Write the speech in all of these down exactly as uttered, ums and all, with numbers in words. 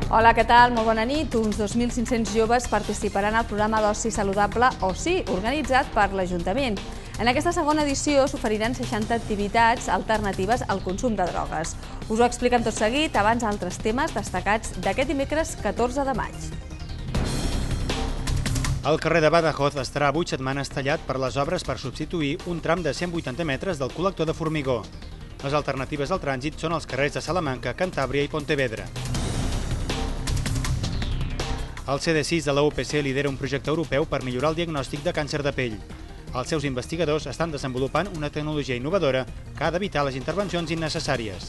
Hola, què tal? Molt bona nit. Uns dos mil cinc-cents joves participaran al programa d'oci saludable OSI, organitzat per l'Ajuntament. En aquesta segona edició s'oferiran seixanta activitats alternatives al consum de drogues. Us ho expliquem tot seguit, abans altres temes destacats d'aquest dimecres catorze de maig. El carrer de Badajoz estarà vuit setmanes tallat per les obres per substituir un tram de cent vuitanta metres del col·lector de formigó. Les alternatives al trànsit són els carrers de Salamanca, Cantàbria i Pontevedra. El C D sis de la U P C lidera un projecte europeu per millorar el diagnòstic de càncer de pell. Els seus investigadors estan desenvolupant una tecnologia innovadora que ha d'evitar les intervencions innecessàries.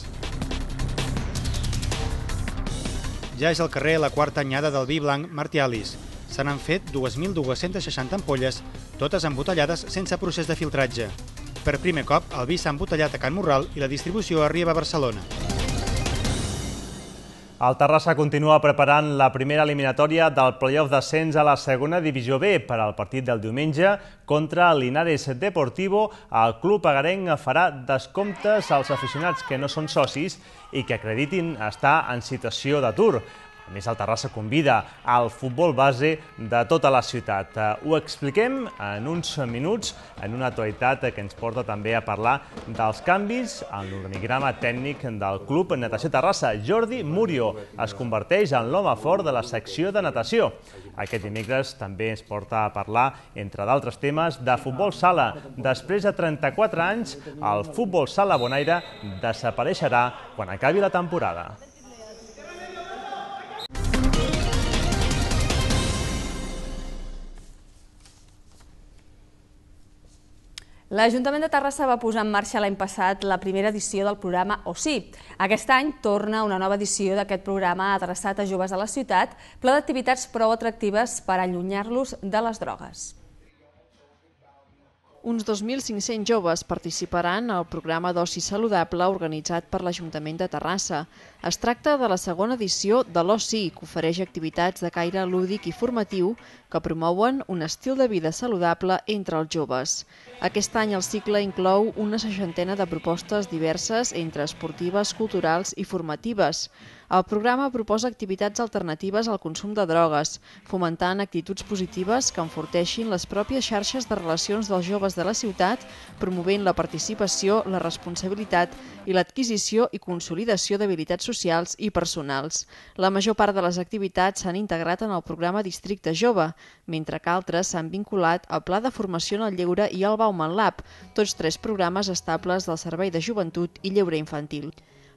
Ja és al carrer la quarta anyada del vi blanc Martialis. Se n'han fet dos mil dos-cents seixanta ampolles, totes embotellades sense procés de filtratge. Per primer cop, el vi s'ha embotellat a Can Morral i la distribució arriba a Barcelona. El Terrassa continua preparant la primera eliminatòria del play-off d'ascens a la segona divisió B. Per al partit del diumenge contra el Linares Deportivo, el club agarenc farà descomptes als aficionats que no són socis i que acreditin estar en situació d'atur. A més, el Terrassa convida al futbol base de tota la ciutat. Ho expliquem en uns minuts, en una actualitat que ens porta també a parlar dels canvis en l'organigrama tècnic del Club Natació Terrassa. Jordi Murio es converteix en l'home fort de la secció de natació. Aquest dimecres també ens porta a parlar, entre d'altres temes, de futbol sala. Després de trenta-quatre anys, el futbol sala Bonaire desapareixerà quan acabi la temporada. L'Ajuntament de Terrassa va posar en marxa l'any passat la primera edició del programa OSI. Aquest any torna una nova edició d'aquest programa adreçat a joves a la ciutat, ple d'activitats prou atractives per allunyar-los de les drogues. Uns dos mil cinc-cents joves participaran al programa d'oci saludable organitzat per l'Ajuntament de Terrassa. Es tracta de la segona edició de l'OSI, que ofereix activitats de caire lúdic i formatiu que promouen un estil de vida saludable entre els joves. Aquest any el cicle inclou una seixantena de propostes diverses entre esportives, culturals i formatives. El programa proposa activitats alternatives al consum de drogues, fomentant actituds positives que enforteixin les pròpies xarxes de relacions dels joves de la ciutat, promovent la participació, la responsabilitat i l'adquisició i consolidació d'habilitats socials i personals. La major part de les activitats s'han integrat en el programa Districte Jove, mentre que altres s'han vinculat al Pla de Formació en el Lleure i al Bauman Lab, tots tres programes estables del Servei de Joventut i Lleure Infantil.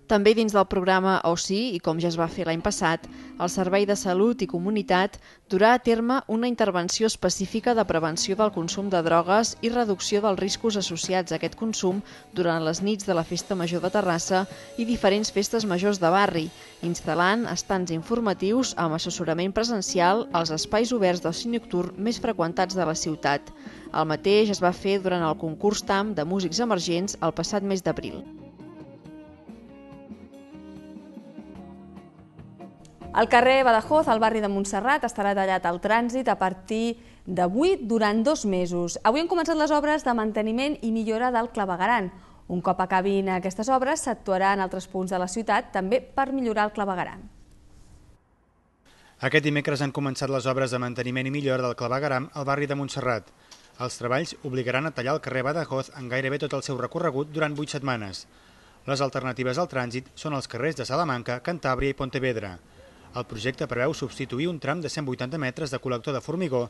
També dins del programa OSI, i com ja es va fer l'any passat, el Servei de Salut i Comunitat durà a terme una intervenció específica de prevenció del consum de drogues i reducció dels riscos associats a aquest consum durant les nits de la Festa Major de Terrassa i diferents festes majors de barri, instal·lant estants informatius amb assessorament presencial als espais oberts d'oci nocturn més freqüentats de la ciutat. El mateix es va fer durant el concurs T A M de músics emergents el passat mes d'abril. El carrer Badajoz, al barri de Montserrat, estarà tallat al trànsit a partir d'avui durant dos mesos. Avui han començat les obres de manteniment i millora del clavegueram. Un cop acabin aquestes obres, s'actuarà en altres punts de la ciutat, també per millorar el claveguram. Aquest dimecres han començat les obres de manteniment i millora del claveguram al barri de Montserrat. Els treballs obligaran a tallar el carrer Badajoz en gairebé tot el seu recorregut durant vuit setmanes. Les alternatives al trànsit són els carrers de Salamanca, Cantàbria i Pontevedra. El projecte preveu substituir un tram de cent vuitanta metres de col·lector de formigó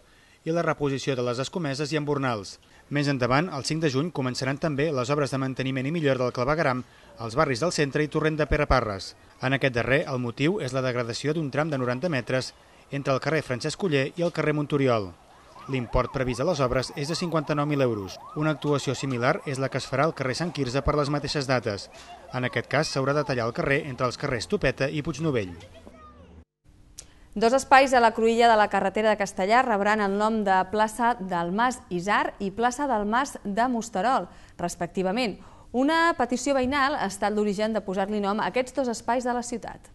i la reposició de les escomeses i embornals. Més endavant, el cinc de juny, començaran també les obres de manteniment i millora del claveguram als barris del centre i Torrent de Pereparres. En aquest darrer, el motiu és la degradació d'un tram de noranta metres entre el carrer Francesc Oller i el carrer Montoriol. L'import previst a les obres és de cinquanta-nou mil euros. Una actuació similar és la que es farà al carrer Sant Quirze per les mateixes dates. En aquest cas, s'haurà de tallar el carrer entre els carrers Topeta i Puignovell. Dos espais a la cruïlla de la carretera de Castellar rebran el nom de plaça del Mas Isar i plaça del Mas de Mosterol, respectivament. Una petició veïnal ha estat l'origen de posar-li nom a aquests dos espais de la ciutat.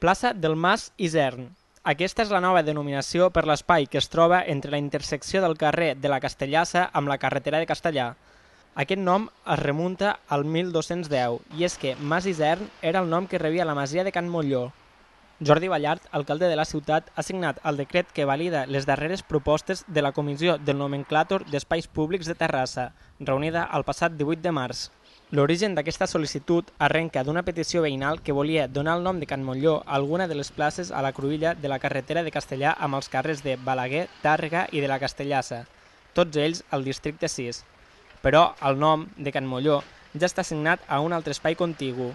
Plaça del Mas Isern. Aquesta és la nova denominació per l'espai que es troba entre la intersecció del carrer de la Castellassa amb la carretera de Castellar. Aquest nom es remunta al mil dos-cents deu i és que Mas Isern era el nom que rebia la masia de Can Molló. Jordi Ballart, alcalde de la ciutat, ha signat el decret que valida les darreres propostes de la Comissió del Nomenclàtor d'Espais Públics de Terrassa, reunida el passat divuit de març. L'origen d'aquesta sol·licitud arrenca d'una petició veïnal que volia donar el nom de Can Molló a alguna de les places a la cruïlla de la carretera de Castellà amb els carrers de Balaguer, Tàrrega i de la Castellassa, tots ells al districte sis. Però el nom de Can Molló ja està assignat a un altre espai contigu.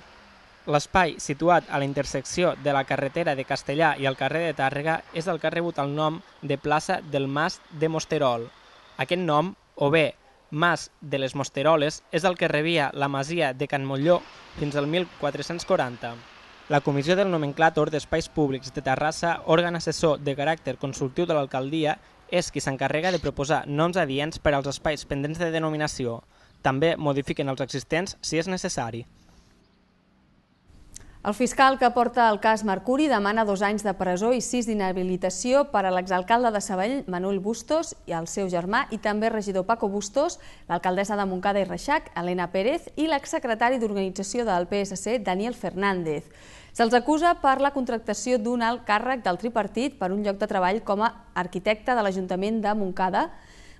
L'espai situat a la intersecció de la carretera de Castellà i el carrer de Tàrrega és el que ha rebut el nom de plaça del Mas de Mosterol. Aquest nom, o bé Mas de les Mosteroles, és el que rebia la masia de Can Molló fins al mil quatre-cents quaranta. La Comissió del Nomenclàtor d'Espais Públics de Terrassa, òrgan assessor de caràcter consultiu de l'alcaldia, és qui s'encarrega de proposar noms adients per als espais pendents de denominació. També modifiquen els existents si és necessari. El fiscal que porta el cas Mercuri demana dos anys de presó i sis d'inhabilitació per a l'exalcalde de Sabadell, Manuel Bustos, i el seu germà, i també regidor Paco Bustos, l'alcaldessa de Montcada i Reixac, Elena Pérez, i l'exsecretari d'organització del P S C, Daniel Fernández. Se'ls acusa per la contractació d'un alt càrrec del tripartit per un lloc de treball com a arquitecte de l'Ajuntament de Montcada,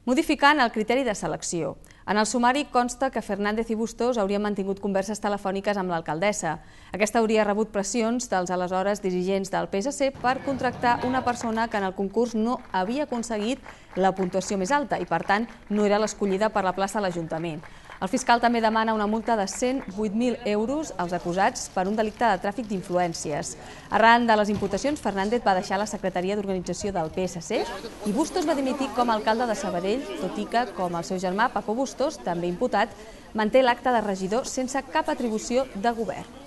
modificant el criteri de selecció. En el sumari consta que Fernández i Bustos haurien mantingut converses telefòniques amb l'alcaldessa. Aquesta hauria rebut pressions dels aleshores dirigents del P S C per contractar una persona que en el concurs no havia aconseguit la puntuació més alta i, per tant, no era l'escollida per la plaça a l'Ajuntament. El fiscal també demana una multa de cent vuit mil euros als acusats per un delicte de tràfic d'influències. Arran de les imputacions, Fernández va deixar la secretaria d'organització del P S C i Bustos va dimitir com a alcalde de Sabadell, tot i que, com el seu germà Paco Bustos, també imputat, manté l'acte de regidor sense cap atribució de govern.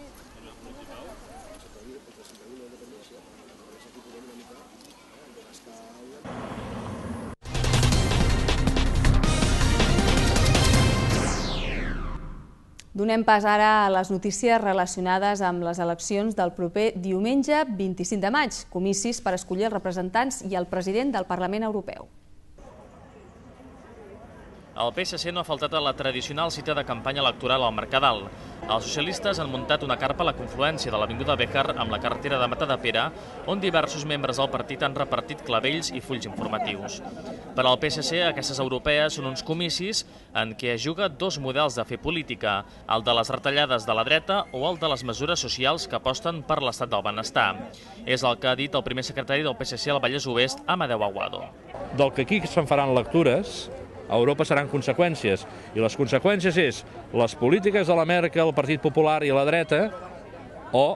Donem pas ara a les notícies relacionades amb les eleccions del proper diumenge vint-i-cinc de maig, comicis per escollir els representants i el president del Parlament Europeu. El P S C no ha faltat a la tradicional cita de campanya electoral al Mercadal. Els socialistes han muntat una carpa a la confluència de l'Avinguda Béjar amb la carretera de Matadepera, on diversos membres del partit han repartit clavells i fulls informatius. Per al P S C, aquestes europees són uns comicis en què es juga dos models de fer política, el de les retallades de la dreta o el de les mesures socials que aposten per l'estat del benestar. És el que ha dit el primer secretari del P S C al Vallès Oest, Amadeu Aguado. Del que aquí se'n faran lectures, a Europa seran conseqüències, i les conseqüències és les polítiques de la Merkel, el Partit Popular i la dreta, o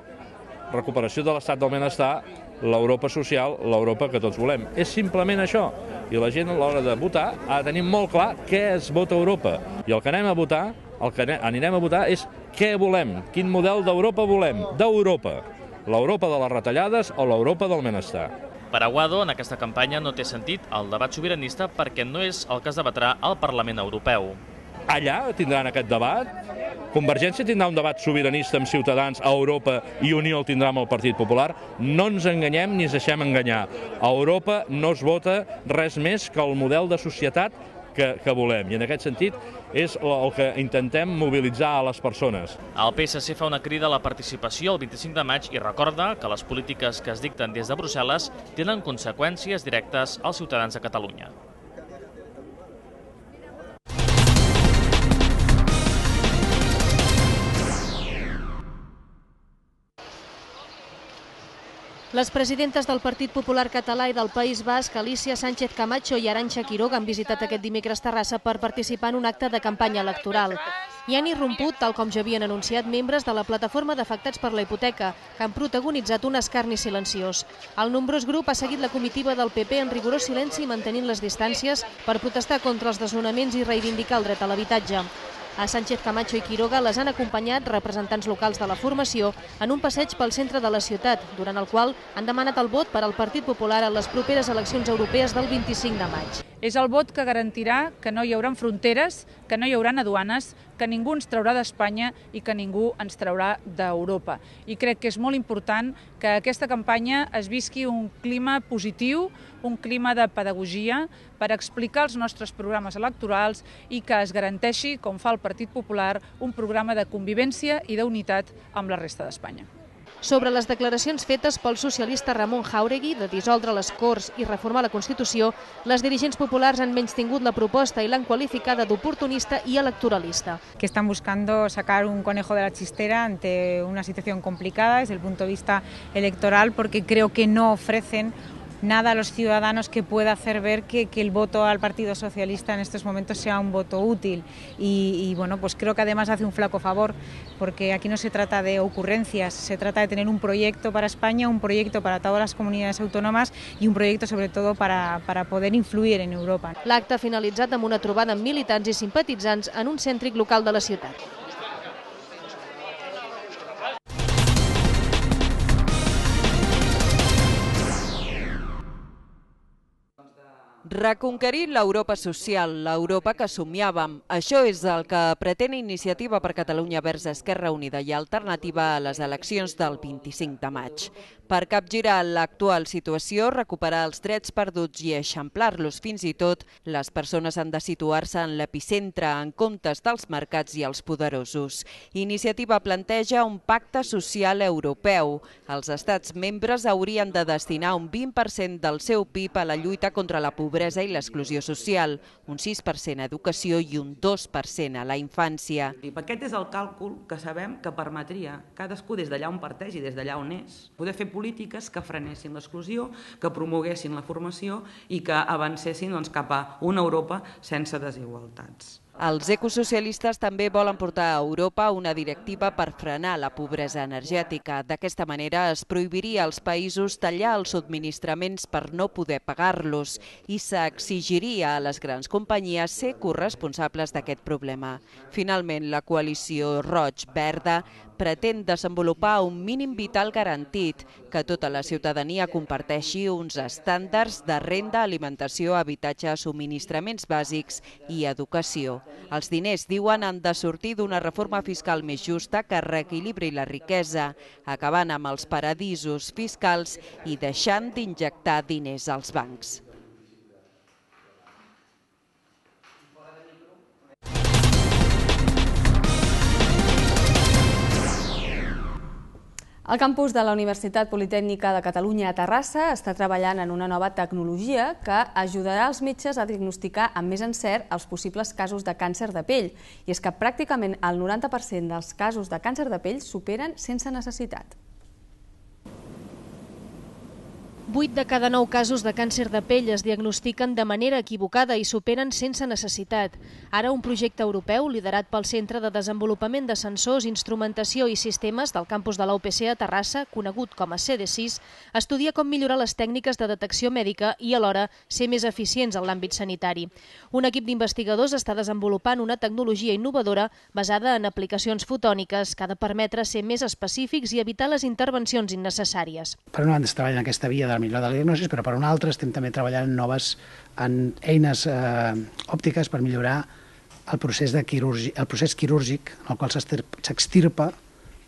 recuperació de l'estat del benestar, l'Europa social, l'Europa que tots volem. És simplement això, i la gent a l'hora de votar ha de tenir molt clar què es vota a Europa, i el que anem a votar, el que anirem a votar és què volem, quin model d'Europa volem, d'Europa, l'Europa de les retallades o l'Europa del benestar. Per Aguado, en aquesta campanya no té sentit el debat sobiranista perquè no és el que es debatrà al Parlament Europeu. Allà tindran aquest debat. Convergència tindrà un debat sobiranista amb Ciutadans a Europa i Unió el tindrà amb el Partit Popular. No ens enganyem ni ens deixem enganyar. A Europa no es vota res més que el model de societat que, que volem. I en aquest sentit és el que intentem mobilitzar a les persones. El P S C fa una crida a la participació el vint-i-cinc de maig i recorda que les polítiques que es dicten des de Brussel·les tenen conseqüències directes als ciutadans de Catalunya. Les presidentes del Partit Popular Català i del País Basc, Alicia Sánchez Camacho i Arantxa Quiroga, han visitat aquest dimecres Terrassa per participar en un acte de campanya electoral. Hi han irromput, tal com ja havien anunciat, membres de la plataforma d'afectats per la hipoteca, que han protagonitzat un escarni silenciós. El nombrós grup ha seguit la comitiva del P P en rigorós silenci, mantenint les distàncies per protestar contra els desnonaments i reivindicar el dret a l'habitatge. A Sánchez Camacho i Quiroga les han acompanyat representants locals de la formació en un passeig pel centre de la ciutat, durant el qual han demanat el vot per al Partit Popular a les properes eleccions europees del vint-i-cinc de maig. És el vot que garantirà que no hi haurà fronteres, que no hi haurà aduanes, que ningú ens traurà d'Espanya i que ningú ens traurà d'Europa. I crec que és molt important que aquesta campanya es visqui un clima positiu, un clima de pedagogia per explicar els nostres programes electorals i que es garanteixi, com fa el Partit Popular, un programa de convivència i d'unitat amb la resta d'Espanya. Sobre les declaracions fetes pel socialista Ramon Jáuregui de dissoldre les Corts i reformar la Constitució, les dirigents populars han menystingut la proposta i l'han qualificada d'oportunista i electoralista. Que están buscando sacar un conejo de la chistera ante una situación complicada desde el punto de vista electoral, porque creo que no ofrecen nada a los ciudadanos que pueda hacer ver que, que el voto al Partido Socialista en estos momentos sea un voto útil. Y, y bueno, pues creo que además hace un flaco favor, porque aquí no se trata de ocurrencias, se trata de tener un proyecto para España, un proyecto para todas las comunidades autónomas y un proyecto sobre todo para, para poder influir en Europa. L'acte ha finalitzat amb una trobada amb militants i simpatitzants en un cèntric local de la ciutat. Reconquerir l'Europa social, l'Europa que somiàvem. Això és el que pretén Iniciativa per Catalunya Verds Esquerra Unida i Alternativa a les eleccions del vint-i-cinc de maig. Per capgirar l'actual situació, recuperar els drets perduts i eixamplar-los fins i tot, les persones han de situar-se en l'epicentre en comptes dels mercats i els poderosos. Iniciativa planteja un pacte social europeu. Els estats membres haurien de destinar un vint per cent del seu P I B a la lluita contra la pobresa i l'exclusió social, un sis per cent a educació i un dos per cent a la infància. Aquest és el càlcul que sabem que permetria cadascú des d'allà on parteix i des d'allà on és, poder fer polítiques que frenessin l'exclusió, que promoguessin la formació i que avancessin doncs, cap a una Europa sense desigualtats. Els ecosocialistes també volen portar a Europa una directiva per frenar la pobresa energètica. D'aquesta manera es prohibiria als països tallar els subministraments per no poder pagar-los i s'exigiria a les grans companyies ser corresponsables d'aquest problema. Finalment, la coalició Roig-Verda pretén desenvolupar un mínim vital garantit, que tota la ciutadania comparteixi uns estàndards de renda, alimentació, habitatge, subministraments bàsics i educació. Els diners, diuen, han de sortir d'una reforma fiscal més justa que reequilibri la riquesa, acabant amb els paradisos fiscals i deixant d'injectar diners als bancs. El campus de la Universitat Politècnica de Catalunya a Terrassa està treballant en una nova tecnologia que ajudarà els metges a diagnosticar amb més encert els possibles casos de càncer de pell. I és que pràcticament el noranta per cent dels casos de càncer de pell superen sense necessitat. vuit de cada nou casos de càncer de pell es diagnostiquen de manera equivocada i superen sense necessitat. Ara un projecte europeu liderat pel Centre de Desenvolupament de Sensors, Instrumentació i Sistemes del campus de la U P C a Terrassa, conegut com a C D sis, estudia com millorar les tècniques de detecció mèdica i alhora ser més eficients en l'àmbit sanitari. Un equip d'investigadors està desenvolupant una tecnologia innovadora basada en aplicacions fotòniques que ha de permetre ser més específics i evitar les intervencions innecessàries. Per una banda es treballa en aquesta via de la millora de la diagnosi, però per una altra estem també treballant en noves en eines eh, òptiques per millorar el procés, de quirurgi, el procés quirúrgic en el qual s'extirpa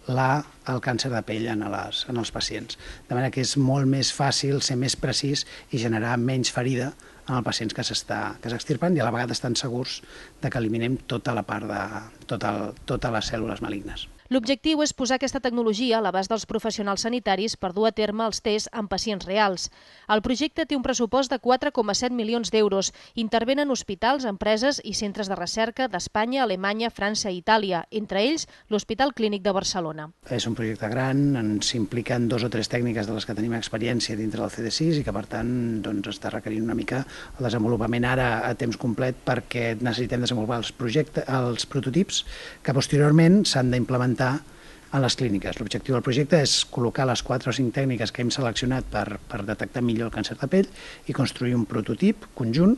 el càncer de pell en, les, en els pacients. De manera que és molt més fàcil ser més precís i generar menys ferida en els pacients que s'extirpen i a la vegada estan segurs de que eliminem tota la part de tota el, totes les cèl·lules malignes. L'objectiu és posar aquesta tecnologia a l'abast dels professionals sanitaris per dur a terme els tests en pacients reals. El projecte té un pressupost de quatre coma set milions d'euros. Intervenen hospitals, empreses i centres de recerca d'Espanya, Alemanya, França i Itàlia, entre ells l'Hospital Clínic de Barcelona. És un projecte gran, ens impliquen dos o tres tècniques de les que tenim experiència dintre del C D sis i que per tant doncs, està requerint una mica el desenvolupament ara a temps complet perquè necessitem desenvolupar els, projectes, els prototips que posteriorment s'han d'implementar a les clíniques. L'objectiu del projecte és col·locar les quatre o cinc tècniques que hem seleccionat per, per detectar millor el càncer de pell i construir un prototip conjunt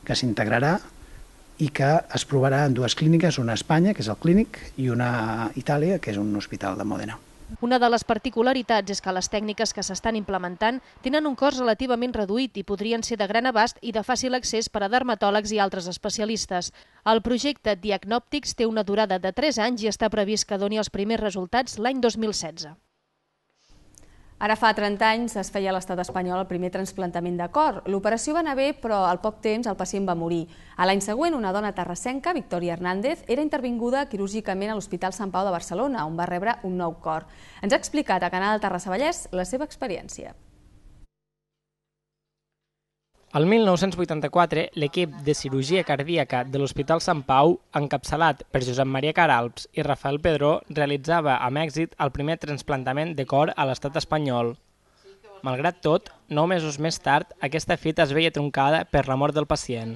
que s'integrarà i que es provarà en dues clíniques, una a Espanya, que és el Clínic, i una a Itàlia, que és un hospital de Mòdena. Una de les particularitats és que les tècniques que s'estan implementant tenen un cost relativament reduït i podrien ser de gran abast i de fàcil accés per a dermatòlegs i altres especialistes. El projecte Diagnòptics té una durada de tres anys i està previst que doni els primers resultats l'any dos mil setze. Ara fa trenta anys es feia a l'estat espanyol el primer trasplantament de cor. L'operació va anar bé, però al poc temps el pacient va morir. A l'any següent, una dona terrassenca, Victòria Hernández, era intervinguda quirúrgicament a l'Hospital Sant Pau de Barcelona, on va rebre un nou cor. Ens ha explicat a Canal Terrassa Vallès la seva experiència. El mil nou-cents vuitanta-quatre, l'equip de cirurgia cardíaca de l'Hospital Sant Pau, encapçalat per Josep Maria Caralps i Rafael Pedró, realitzava amb èxit el primer trasplantament de cor a l'estat espanyol. Malgrat tot, nou mesos més tard, aquesta fita es veia truncada per la mort del pacient.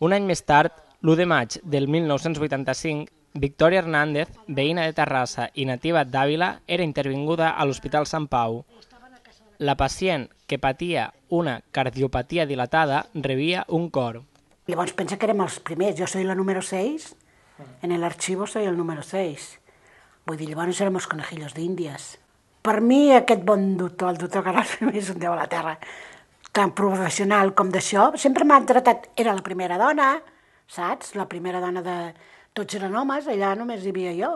Un any més tard, l'u de maig del mil nou-cents vuitanta-cinc, Victòria Hernández, veïna de Terrassa i nativa d'Àvila, era intervinguda a l'Hospital Sant Pau. La pacient, que patia una cardiopatia dilatada, rebia un cor. Llavors pensa que érem els primers, jo soy la número seis, en el archivo soy el número seis. Vull dir, llavors érem els conejillos d'Índies. Per mi aquest bon doctor, el doctor Carles és un déu a la terra, tan professional com d'això, sempre m'ha tratat, era la primera dona, saps? La primera dona de... Tots eren homes, allà només hi havia jo.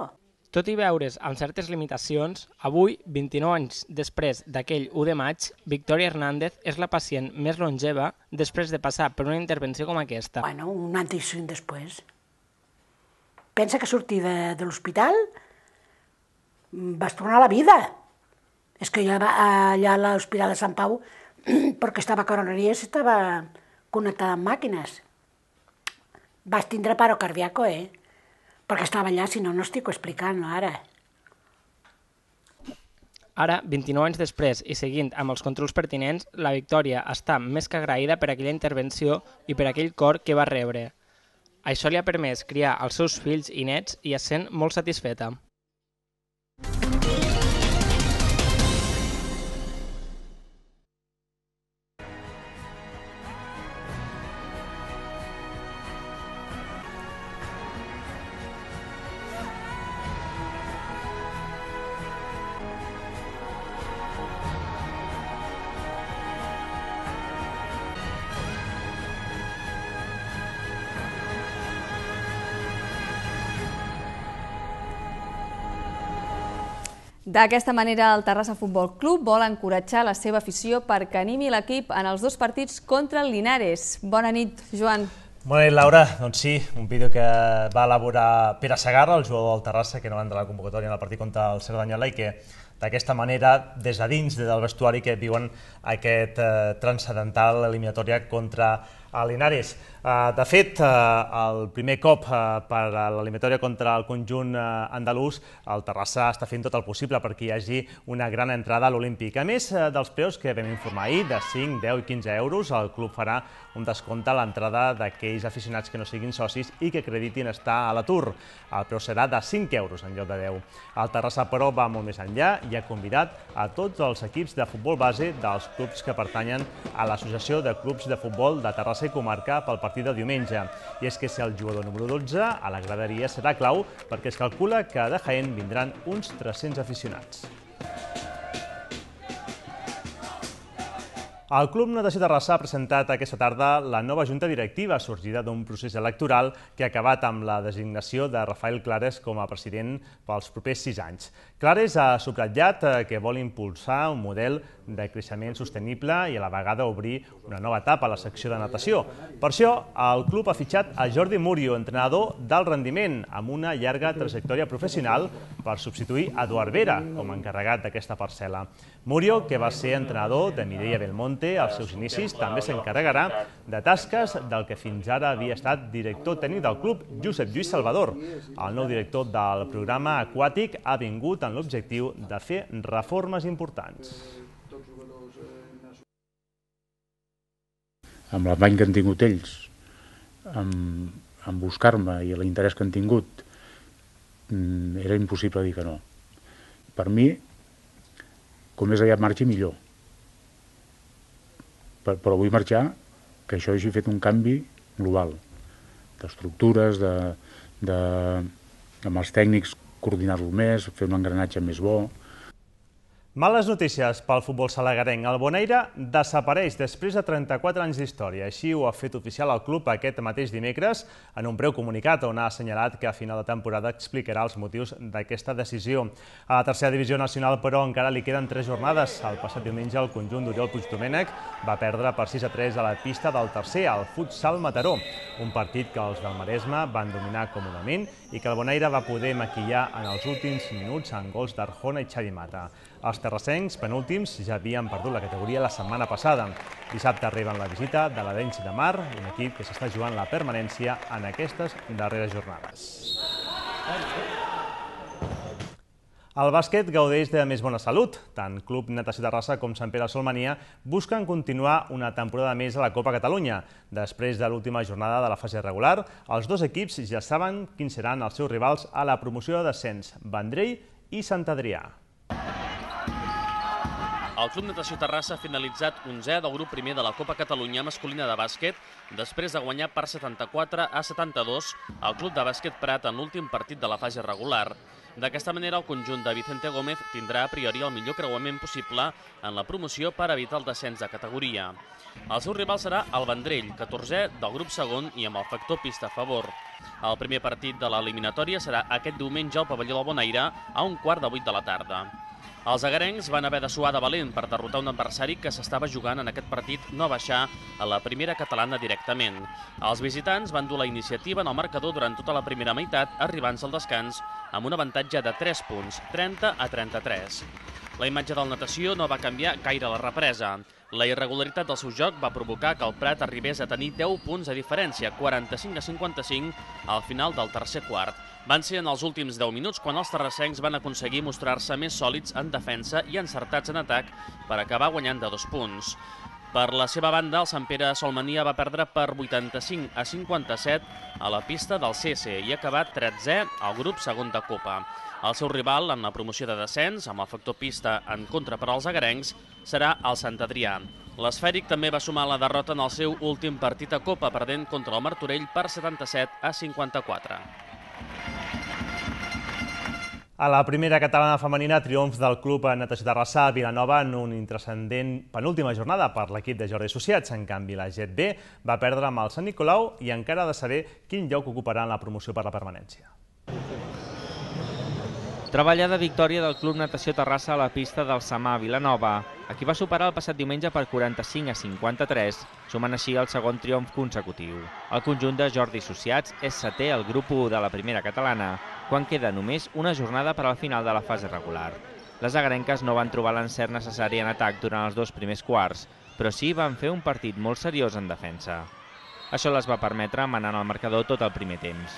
Tot i veure's amb certes limitacions, avui, vint-i-nou anys després d'aquell u de maig, Victòria Hernández és la pacient més longeva després de passar per una intervenció com aquesta. Bueno, un antes i un després. Pensa que sortir de, de l'hospital vas tornar a la vida. És que jo allà a l'Hospital de Sant Pau, perquè estava a coroneries, estava connectada amb màquines. Vas tindre paro cardíaco, eh? Perquè estava allà, si no, no estic explicant, ara. Ara, vint-i-nou anys després i seguint amb els controls pertinents, la Victòria està més que agraïda per aquella intervenció i per aquell cor que va rebre. Això li ha permès criar els seus fills i nets i es sent molt satisfeta. D'aquesta manera, el Terrassa Futbol Club vol encoratjar la seva afició perquè animi l'equip en els dos partits contra el Linares. Bona nit, Joan. Bona nit, Laura. Doncs sí, un vídeo que va elaborar Pere Segarra, el jugador del Terrassa, que no va entrar a la convocatòria en el partit contra el Cerdanyola i que d'aquesta manera, des de dins del vestuari, que viuen aquest transcendental eliminatòria contra el Linares. De fet, el primer cop per l'eliminatòria contra el conjunt andalús, el Terrassa està fent tot el possible perquè hi hagi una gran entrada a l'Olímpic. A més dels preus que vam informar ahir, de cinc, deu i quinze euros, el club farà un descompte a l'entrada d'aquells aficionats que no siguin socis i que acreditin estar a l'atur. El preu serà de cinc euros en lloc de deu. El Terrassa, però, va molt més enllà i ha convidat a tots els equips de futbol base dels clubs que pertanyen a l'Associació de Clubs de Futbol de Terrassa i Comarca pel partit de diumenge. I és que si el jugador número dotze a la graderia serà clau perquè es calcula que de Jaén vindran uns tres-cents aficionats. El Club Natació Terrassa ha presentat aquesta tarda la nova junta directiva sorgida d'un procés electoral que ha acabat amb la designació de Rafael Clares com a president pels propers sis anys. Clares ha subratllat que vol impulsar un model de creixement sostenible i a la vegada obrir una nova etapa a la secció de natació. Per això, el club ha fitxat a Jordi Murio, entrenador d'alt rendiment, amb una llarga trajectòria professional per substituir a Eduard Vera com a encarregat d'aquesta parcel·la. Murio, que va ser entrenador de Mireia Belmonte als seus inicis, també s'encarregarà de tasques del que fins ara havia estat director tècnic del club, Josep Lluís Salvador. El nou director del programa aquàtic ha vingut amb l'objectiu de fer reformes importants. Amb l'afany que han tingut ells, en buscar-me i l'interès que han tingut, era impossible dir que no. Per mi, com més aviat marxi, millor. Però vull marxar que això hagi fet un canvi global, d'estructures, amb els tècnics coordinar-lo més, fer un engranatge més bo. Males notícies pel futbol salaguerenc. El Bonaire desapareix després de trenta-quatre anys d'història. Així ho ha fet oficial el club aquest mateix dimecres en un breu comunicat on ha assenyalat que a final de temporada explicarà els motius d'aquesta decisió. A la tercera divisió nacional, però, encara li queden tres jornades. El passat diumenge el conjunt d'Oriol Puigdomènech va perdre per sis a tres a la pista del tercer, el Futsal Mataró, un partit que els del Maresme van dominar còmodament i que el Bonaire va poder maquillar en els últims minuts amb gols d'Arjona i Xavi Mata. Els terrassencs, penúltims, ja havien perdut la categoria la setmana passada. Dissabte arriben la visita de l'Arenys de Mar, un equip que s'està jugant la permanència en aquestes darreres jornades. El bàsquet gaudeix de més bona salut. Tant Club Natació Terrassa com Sant Pere Solmania busquen continuar una temporada més a la Copa Catalunya. Després de l'última jornada de la fase regular, els dos equips ja saben quins seran els seus rivals a la promoció de descens, Vendrell i Sant Adrià. El Club Natació Terrassa ha finalitzat onzè del grup primer de la Copa Catalunya masculina de bàsquet després de guanyar per setanta-quatre a setanta-dos al Club de Bàsquet Prat en l'últim partit de la fase regular. D'aquesta manera, el conjunt de Vicente Gómez tindrà a priori el millor creuament possible en la promoció per evitar el descens de categoria. El seu rival serà el Vendrell, catorzè del grup segon i amb el factor pista a favor. El primer partit de l'eliminatòria serà aquest diumenge al pavelló del Bonaire a un quart de vuit de la tarda. Els agarencs van haver de suar de valent per derrotar un adversari que s'estava jugant en aquest partit no baixar a la primera catalana directament. Els visitants van dur la iniciativa en el marcador durant tota la primera meitat, arribant-se al descans amb un avantatge de tres punts, trenta a trenta-tres. La imatge del Natació no va canviar gaire a la represa. La irregularitat del seu joc va provocar que el Prat arribés a tenir deu punts de diferència, quaranta-cinc a cinquanta-cinc, al final del tercer quart. Van ser en els últims deu minuts quan els terrassencs van aconseguir mostrar-se més sòlids en defensa i encertats en atac per acabar guanyant de dos punts. Per la seva banda, el Sant Pere Solmania va perdre per vuitanta-cinc a cinquanta-set a la pista del C S i ha acabat tretzè al grup segon de Copa. El seu rival en la promoció de descens, amb el factor pista en contra per als agarencs, serà el Sant Adrià. L'esfèric també va sumar la derrota en el seu últim partit a Copa, perdent contra el Martorell per setanta-set a cinquanta-quatre. A la primera catalana femenina, triomf del Club Natació Terrassa a Vilanova en una intrascendent penúltima jornada per l'equip de Jordi Associats. En canvi, la G B va perdre amb el Sant Nicolau i encara ha de saber quin lloc ocuparà en la promoció per la permanència. Treballada victòria del Club Natació Terrassa a la pista del Samà Vilanova. Aquí va superar el passat diumenge per quaranta-cinc a cinquanta-tres, sumant així el segon triomf consecutiu. El conjunt de Jordi Associats és setè al grup u de la primera catalana, quan queda només una jornada per al final de la fase regular. Les agarenques no van trobar l'encert necessari en atac durant els dos primers quarts, però sí van fer un partit molt seriós en defensa. Això les va permetre manar el marcador tot el primer temps.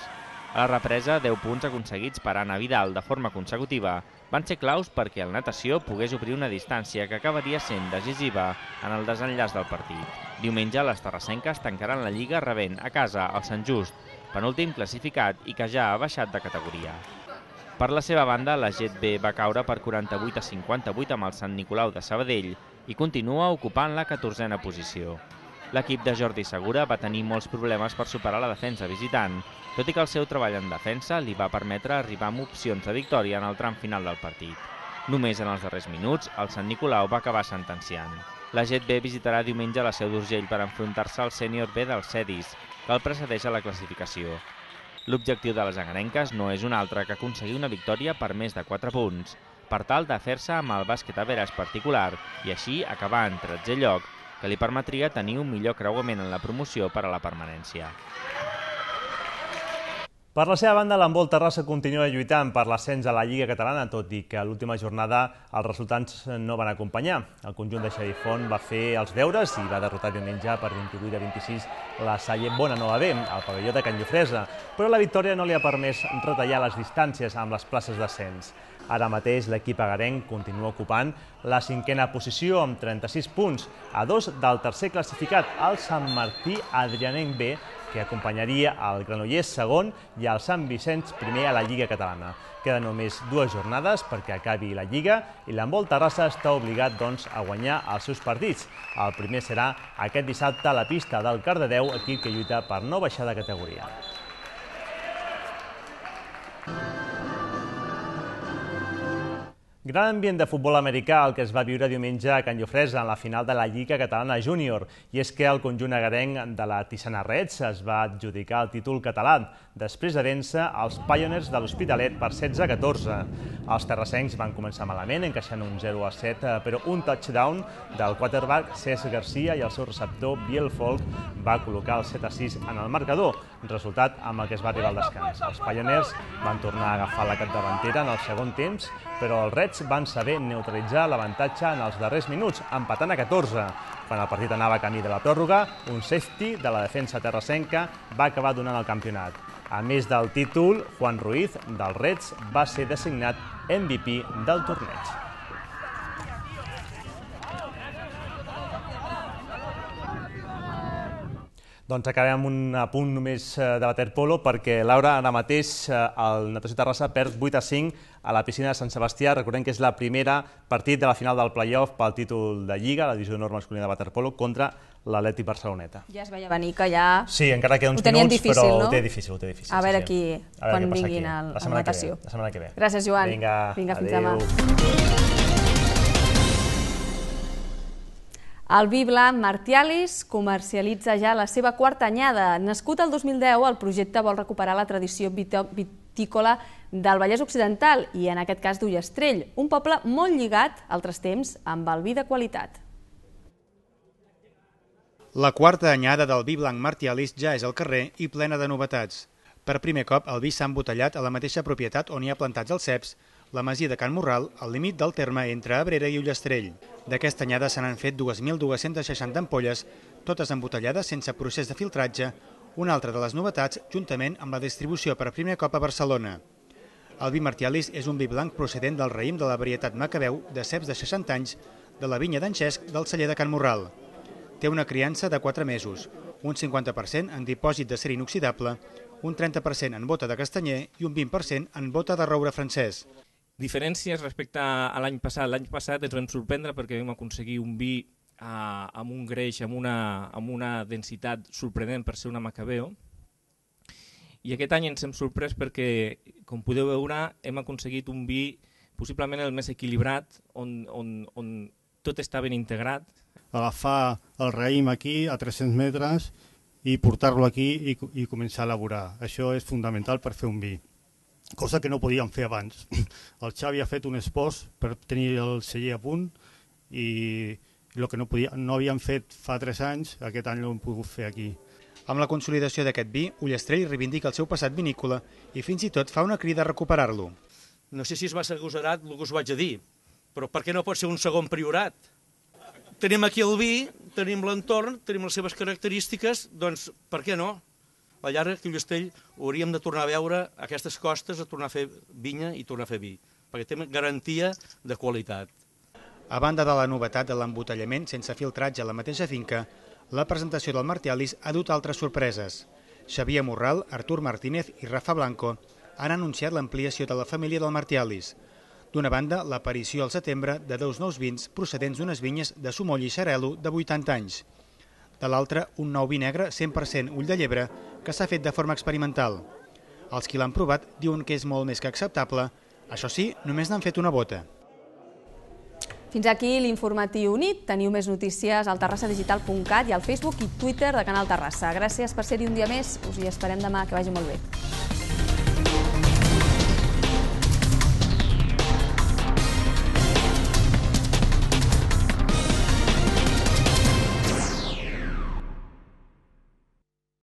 A la represa, deu punts aconseguits per Anna Vidal de forma consecutiva van ser claus perquè el Natació pogués obrir una distància que acabaria sent decisiva en el desenllaç del partit. Diumenge, les terrassenques tancaran la Lliga rebent a casa el Sant Just, penúltim classificat i que ja ha baixat de categoria. Per la seva banda, la G B va caure per quaranta-vuit a cinquanta-vuit amb el Sant Nicolau de Sabadell i continua ocupant la catorzena posició. L'equip de Jordi Segura va tenir molts problemes per superar la defensa visitant, tot i que el seu treball en defensa li va permetre arribar amb opcions de victòria en el tram final del partit. Només en els darrers minuts, el Sant Nicolau va acabar sentenciant. La G B visitarà diumenge la Seu d'Urgell per enfrontar-se al sènior B del Cedis, que el precedeix a la classificació. L'objectiu de les agarenques no és un altre que aconseguir una victòria per més de quatre punts, per tal de fer-se amb el bàsquet a veres particular i així acabar en tretzè lloc, que li permetria tenir un millor creuament en la promoció per a la permanència. Per la seva banda, l'handbol Terrassa continua lluitant per l'ascens a la Lliga Catalana, tot i que a l'última jornada els resultats no van acompanyar. El conjunt de Xavi Font va fer els deures i va derrotar diumenge per vint-i-vuit a vint-i-sis la Salle Bonanova B, al pavelló de Can Llofresa, però la victòria no li ha permès retallar les distàncies amb les places d'ascens. Ara mateix l'equip agarenc continua ocupant la cinquena posició amb trenta-sis punts, a dos del tercer classificat, el Sant Martí Adrianenc B, que acompanyaria el Granollers segon i el Sant Vicenç primer a la Lliga Catalana. Queden només dues jornades perquè acabi la Lliga i l'handbol Terrassa està obligat doncs, a guanyar els seus partits. El primer serà aquest dissabte a la pista del Cardedeu, equip que lluita per no baixar de categoria. Gran ambient de futbol americà el que es va viure diumenge a Can Llofresa en la final de la Lliga Catalana Júnior. I és que el conjunt agarenc de la Tissana Reds es va adjudicar el títol català després de vèncer els Pioneers de l'Hospitalet per setze a catorze. Els terrassencs van començar malament, encaixant un zero a set, però un touchdown del quarterback Cesc Garcia i el seu receptor Biel Folk va col·locar el set a sis en el marcador, resultat amb el que es va arribar al descans. Els Pioneers van tornar a agafar la capdavantera en el segon temps, però els Reds van saber neutralitzar l'avantatge en els darrers minuts, empatant a catorze. Quan el partit anava camí de la pròrroga, un safety de la defensa terrassenca va acabar donant el campionat. A més del títol, Juan Ruiz, dels Reds, va ser designat M V P del torneig. Doncs acabem amb un apunt només de waterpolo perquè, Laura, ara mateix el Natació Terrassa perd vuit a cinc a la piscina de Sant Sebastià. Recordem que és la primera partit de la final del play-off pel títol de Lliga, la divisió d'honor masculina de waterpolo, contra l'Atlètic Barceloneta. Ja es veia venir que ja... Sí, encara queda uns minuts, però ho té difícil, ho té difícil. A veure aquí, quan vinguin a la natació. La setmana que ve. Gràcies, Joan. Vinga, fins demà. adéu. El vi blanc Martialis comercialitza ja la seva quarta anyada. Nascut el dos mil deu, el projecte vol recuperar la tradició vitícola del Vallès Occidental i, en aquest cas, d'Ullastrell, un poble molt lligat, altres temps, amb el vi de qualitat. La quarta anyada del vi blanc Martialis ja és al carrer i plena de novetats. Per primer cop, el vi s'ha embotellat a la mateixa propietat on hi ha plantats els ceps, la masia de Can Morral, al límit del terme entre Abrera i Ullastrell. D'aquesta anyada se n'han fet dos mil dues-centes seixanta ampolles, totes embotellades sense procés de filtratge, una altra de les novetats, juntament amb la distribució per primer cop a Barcelona. El vi Martialis és un vi blanc procedent del raïm de la varietat Macabeu de ceps de seixanta anys de la vinya d'en Xesc del celler de Can Morral. Té una criança de quatre mesos, un cinquanta per cent en dipòsit d'acer inoxidable, un trenta per cent en bota de castanyer i un vint per cent en bota de roure francès. Diferències respecte a l'any passat. L'any passat ens vam sorprendre perquè vam aconseguir un vi eh, amb un greix, amb una, amb una densitat sorprenent per ser una Macabeo. I aquest any ens hem sorprès perquè, com podeu veure, hem aconseguit un vi possiblement el més equilibrat, on, on, on tot està ben integrat. Agafar el raïm aquí a tres-cents metres i portar-lo aquí i, i començar a elaborar. Això és fonamental per fer un vi, cosa que no podíem fer abans. El Xavi ha fet un esbós per tenir el celler a punt i el que no, podia, no havíem fet fa tres anys, aquest any l'hem pogut fer aquí. Amb la consolidació d'aquest vi, Ullastrell reivindica el seu passat vinícola i fins i tot fa una crida a recuperar-lo. No sé si és massa agosarat el que us vaig a dir, però per què no pot ser un segon priorat? Tenim aquí el vi, tenim l'entorn, tenim les seves característiques, doncs per què no? A la llarga, que Ullastrell hauríem de tornar a veure aquestes costes, a tornar a fer vinya i tornar a fer vi, perquè té garantia de qualitat. A banda de la novetat de l'embotellament sense filtratge a la mateixa finca, la presentació del Martialis ha dut altres sorpreses. Xavier Morral, Artur Martínez i Rafa Blanco han anunciat l'ampliació de la família del Martialis. D'una banda, l'aparició al setembre de dos nous vins procedents d'unes vinyes de Sumoll i Xarel·lo de vuitanta anys. De l'altra, un nou vi negre cent per cent ull de llebre que s'ha fet de forma experimental. Els qui l'han provat diuen que és molt més que acceptable, això sí, només n'han fet una bota. Fins aquí l'informatiu nit. Teniu més notícies al terrassa digital punt cat i al Facebook i Twitter de Canal Terrassa. Gràcies per ser-hi un dia més. Us hi esperem demà. Que vagi molt bé.